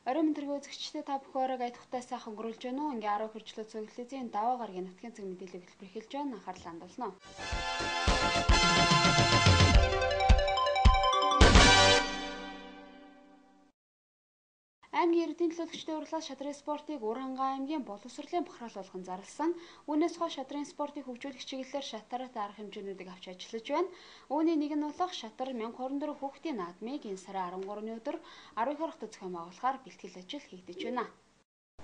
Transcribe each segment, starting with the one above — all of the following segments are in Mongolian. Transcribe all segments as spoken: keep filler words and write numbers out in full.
Орой мэндэргийн үзэгчдээ та бүхэн айдахтай сайхан өнгөрүүлж байна уу? Ингээ арав хөрчлөө цөглөлийн даваа гарагийн нутгийн цэг мэдээлэл хэлбэр эхэлж байна. Анхаарал хандуулна. Аймгийн иргэдийн төлөөлөгчдийн урлаас шатрын спортыг Уранга аймгийн боловсролын бахархал болгон зарласан. Үүнээс хойш шатрын спортыг хөгжүүлэх чиглэлээр шатараатай арга хэмжээнүүдийг авч ажиллаж байна. Үүний нэг нь болох шатар мянга хорин дөрөв хүүхдийн наадмыг энэ сарын арван гуравны өдөр арван их орохтой зохион байгуулахаар бэлтгэл ажил хийгдэж байна.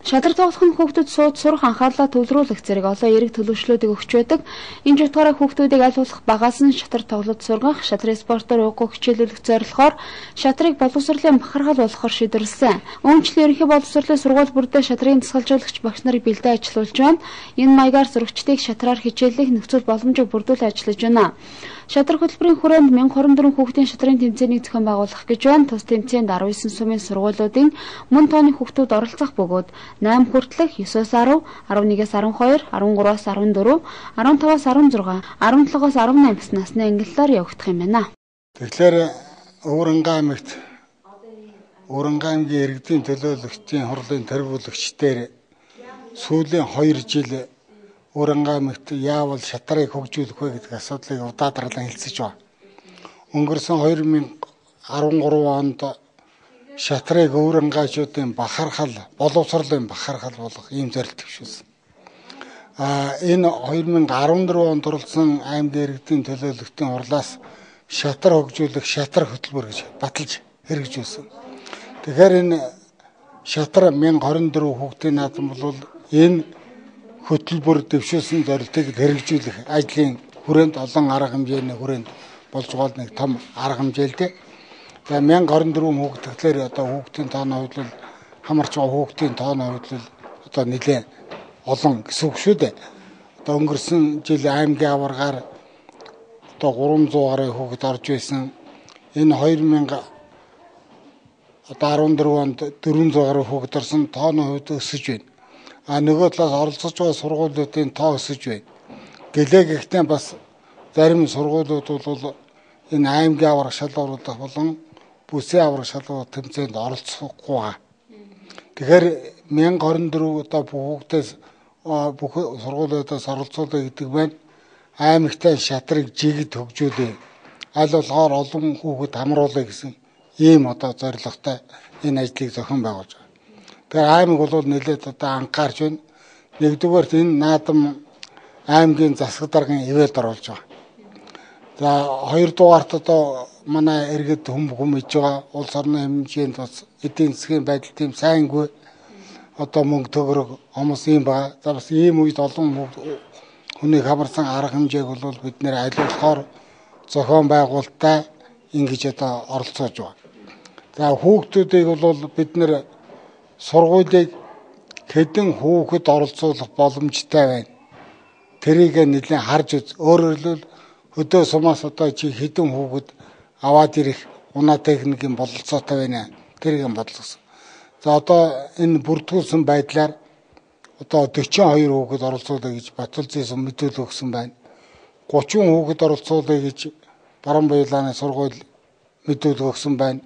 Шадар тоглох нь хүүхдүүд сууд сурах анхаарлаа төвлөрүүлэх зэрэг олон эерэг төлөвшлүүдийг өгч байдаг. Энэ утгаараа хүүхдүүдийг аль болох багаас нь шатар тоглож сургах, шатрын спортоор уггүй хичээлүүлэх зорилгоор шатрыг боловсролын бахархал болгохоор шийдвэрлэсэн. Үүнчлэн ерөнхий боловсролын сургууль бүрдээ шатрын дасгалжуулагч багш нарыг бэлдээ ажиллуулж байна. Энэ маягаар зурагчдыг шатраар хичээллэх нөхцөл боломжийг бүрдүүлж ажиллаж байна. Шадар хөтөлбөрийн хүрээнд мянга хорин дөрөв хүүхдийн шатрын тэмцээнийг зохион байгуулах гэж байна. Тус тэмцээнд арван есөн сумын сургуулиудын мөн тооны хүүхдүүд оролцох бөгөөд найман хүртэлх есөөс арав, арван нэгээс арван хоёр, арван гураваас арван дөрөв, арван таваас арван зургаан, арван долоогоос арван наймаас насны ангиллаар явагдах юм байна. Тэгэхээр Уранга аймагт Уранга аймгийн иргэдийн төлөөлөгчдийн хурлын тэргүүлэгчдээр сүүлийн хоёр жил Уранга аймагт яавал шатрыг хөгжүүлэх вэ гэдэг асуудлыг удаадралан хэлцэж байна. Өнгөрсөн хоёр мянга арван гурав онд шатрыг Урангачуудын бахархал, боловсролын бахархал болох ийм зорилт төвшүүлсэн. А энэ хоёр мянга арван дөрөв онд оролцсон аймгийн иргэдийн төлөөлөгчдийн хурлаас шатар хөгжүүлэх шатар хөтөлбөр гэж баталж хэрэгжүүлсэн. Тэгэхээр энэ шатар мянга хорин дөрөв хүүхдийн наадам бол энэ хөтөлбөр дэвшүүлсэн зорилтыг хэрэгжүүлэх ажлын хүрээнд олон арга хэмжээний хүрээнд болж байгаа нэг том арга хэмжээлтэй. За мянга хорин дөрөв хүүхд тэгэхээр одоо хүүхдийн тооны хувьд хамарч байгаа хүүхдийн тооны хувьд одоо нэлээд олон гэсэн үг шүү дээ. Одоо өнгөрсөн жил аймгийн аваргаар одоо гурван зуун гаруй хүүхэд орж байсан. Энэ хоёр мянга одоо арван дөрөв онд дөрвөн зуун гаруй хүүхэд орсон, тооны хувьд өсөж байна. А нөгөө талаас оролцож байгаа сургуулиудын тоо өсөж байна. Гэлээ гэхдээ бас зарим сургуулиуд бол энэ аймгийн аварга шалгууруудах болон бүсийн аварга шалгуур тэмцээнд оролцохгүй байгаа. Тэгэхээр мянга хорин дөрөв одоо хүүхдээс бүх сургуулиудаас оролцуулах гэдэг байна. Аймагтай шатрыг жигд хөгжүүлээ. Аль болохоор олон хүүхэд хамруулах гэсэн ийм одоо зорилготой энэ ажлыг зохион байгуулж байгаа. Тэгэхээр аймаг бол нэлээд одоо анхаарч байна. Нэгдүгээрт энэ наадам аймгийн засаг даргын ивэлд оруулж байгаа. За хоёрдугаарт одоо манай иргэд хүм хүм иж байгаа улс орны хэмжээнд бас эдийн засгийн байдал тийм сайнгүй. Одоо мөнгө төгрөг хүмүүс юм байгаа. За бас ийм үед олон хүний хамарсан арга хэмжээг бол бид нэр аль болохоор зохион байгуулалтаа ингэж одоо оролцоож байгаа. За хүүхдүүдийг бол бид нэр сургуулийг хэдэн хүүхэд оролцуулах боломжтой байна. Тэрийг нэлээд харж үз. Өөрөөр хэлбэл өдөө сумаас одоо чи хэдэн хүүхэд аваад ирэх унаа техникийн бололцоотой байна. Тэрийг бодлогосон. За одоо энэ бүрдүүлсэн байдлаар одоо дөрвөн хоёр хүүхэд оролцуулъя гэж Батулзын мэдүүлэл өгсөн байна. гучин хүүхэд оролцуулъя гэж Баруун Баялааны сургууль мэдүүлэл өгсөн байна.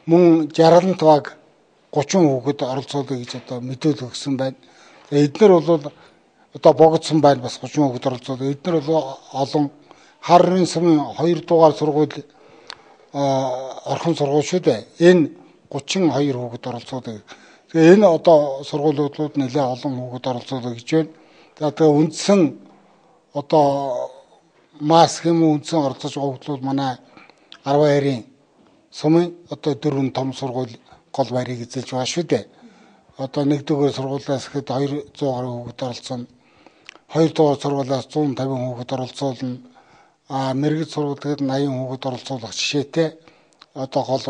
Мөн жаргалант баг гучин хүүхэд оролцуулъя гэж одоо мэдүүлэл өгсөн байна. Эдгээр бол одоо богдсон байна бас гучин хүүхэд оролцуулъя. Эдгээр бол олон Харрын сумын хоёр дугаар сургууль орхон сургууль шүү дээ. Энэ гучин хоёр хүүхэд оролцуулъя. Тэгээ энэ одоо сургуулиуд нэлээд олон хүүхэд оролцуулъя гэж байна. За тэгээ үндсэн одоо мас хэм үндсэн оролцож байгаа хүүхдүүд манай арван хоёрын сумын одоо дөрвөн том сургууль гол байрыг эзэлж байгаа шүү дээ. Одоо нэгдүгээр сургуулиас хэд хоёр зуун гаруй хүүхэд оролцсон. Хоёр дугаар сургуулиас зуун тавин хүүхэд оролцуулна. А мэргэд сургуулиуд аян хүүхэд оролцуулах жишээтэй одоо гол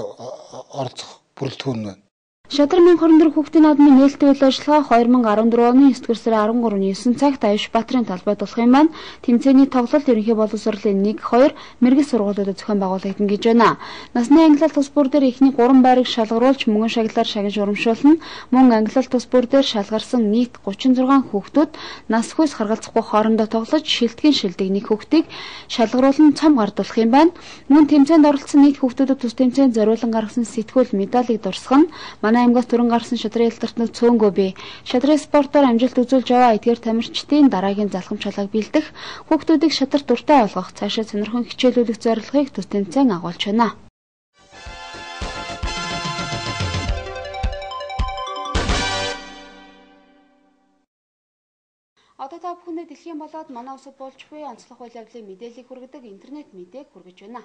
оролцох бүрэлдэхүүн байна. Шадар мянга хорин дөрөв хүүхдийн наадмын нээлттэй үйл ажиллагаа хоёр мянга арван дөрөв оны есдүгээр сарын арван гуравны есөн цагт Аюш Баатрын талбайд болох юм байна. Тэмцээний тоглолт ерөнхий боловсролын нэг, хоёр мэргэд сургуулиудад зохион байгуулагдана гэж байна. Насны ангилалт тус бүр дээр эхний гурван байрыг шалгаруулж мөнгөн шагналаар шагнаж урамшуулна. Мөн ангилалт тус бүр дээр шалгарсан нийт гучин зургаан хүүхдүүд нас хүйс харгалзахгүй хоорондоо тоглож шилтгэн шилдэг нэг хүүхдийг шалгаруулан цом гардуулах юм байна. Мөн тэмцээнд оролцсон нийт хүүхдүүдэд тус тэмцээнд зориулан гаргасан сэтгүүл медалийг дурсгах нь манай аймгаас түрэн гарсан шатрын ялдартнууд цөөнгөө бий. Шатрын спортоор амжилт үзүүлж яваа эдгээр тамирчдын дараагийн залхамж чалгааг бэлдэх, хүүхдүүдийг шатрт дуртай болгох, цаашаа сонирхон хичээлүүлэх зорилгыг төс тэмцээн агуулж байна. Одоо та бүхэнд дэлхийн болоод манай улсад болж буй онцлог үйл явдлын мэдээллийг хүргэдэг интернет мэдээг хүргэж байна.